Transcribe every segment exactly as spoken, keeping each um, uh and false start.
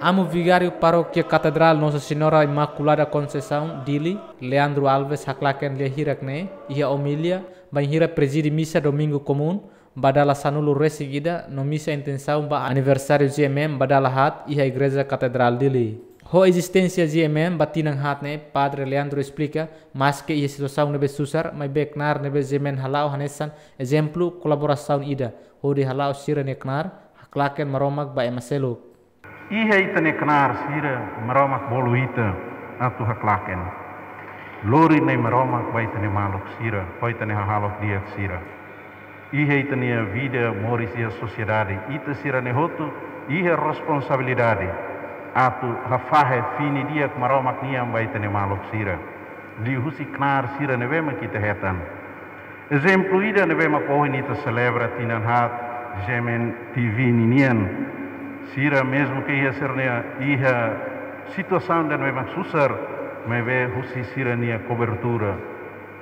Amu Vigáriu Parókia Katedrál Nossa Senhora Imaculada Conceição, Dili, Leandro Alves, haklaken lia hirak ne'e iha omilia bainhira prezide misa Domingu Komún ba dala sanulu-resin-ida no misa intensaun ba aniversáriu G M M ba dala haat iha Igreja Katedrál Dili. Ho ezisténsia G M M ba tinan haat ne'e, Padre Leandro esplika, maske iha situasaun ne'ebé susar, maibé knaar ne'ebé G M M hala'o hanesan ezemplu kolaborasaun ida hodi hala'o sira-nia knaar haklaken Maromak ba ema seluk. Iha ita-nia knaar sira, Maromak bolu ita atu haklaken, lori Na'i Maromak ba ita-nia maluk sira, ho ita-nia hahalok di'ak sira. Iha ita-nia vida moris iha sosiedade, ita sira-ne'e hotu iha responsabilidade atu hafahe fini di'ak Maromak nian ba ita-nia maluk sira, liuhusi knaar sira ne'ebé mak ita hetan. Ezemplu ida ne'ebé mak ohin ita selebra tinan haat G M M T V ninian. Sira mezmu ke iha sira-nia, iha situasaun ida ne'ebé mak susar, maibé husi sira-nia kobertura,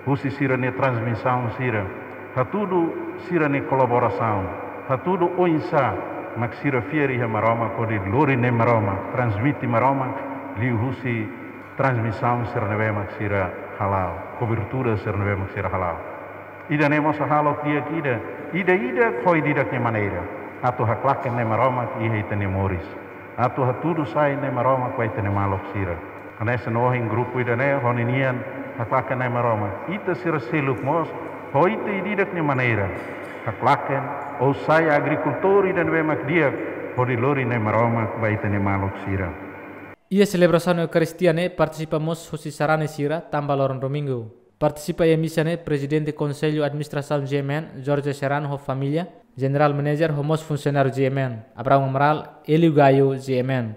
husi sira-nia transmisaun sira, hatudu sira-nia kolaborasaun, hatudu oinsá mak sira fiar iha Maromak hodi lori Na'i Maromak, transmite Maromak liuhusi transmisaun sira ne'ebé mak sira hala'o, kobertura sira ne'ebé mak sira hala'o. Ida-ne'e mós hahalok di'ak ida, ida-idak ho ida-idak nia maneira, atu haklaken Na'i Maromak iha ita-nia moris, atu hatudu sai Na'i Maromak ba ita-nia maluk sira. Hanesan ohin grupu ida-ne'e ho ninian haklaken Na'i Maromak, ita sira seluk mós ho ita ida-idak nia maneira haklaken, ou sai agrikultór ida ne'ebé mak di'ak hodi lori Na'i Maromak ba ita-nia maluk sira. Iha selebrasaun Eukaristia ne'e partisipa mós husi sarani sira tanba loron Domingu. Partisipa iha misa ne'e Prezidente Konsellu Administrasaun G M M, Jorge Serrano ho família, General Manager ho mós funsionáriu G M M, Abraão Amaral, Hélio Gaio, G M M.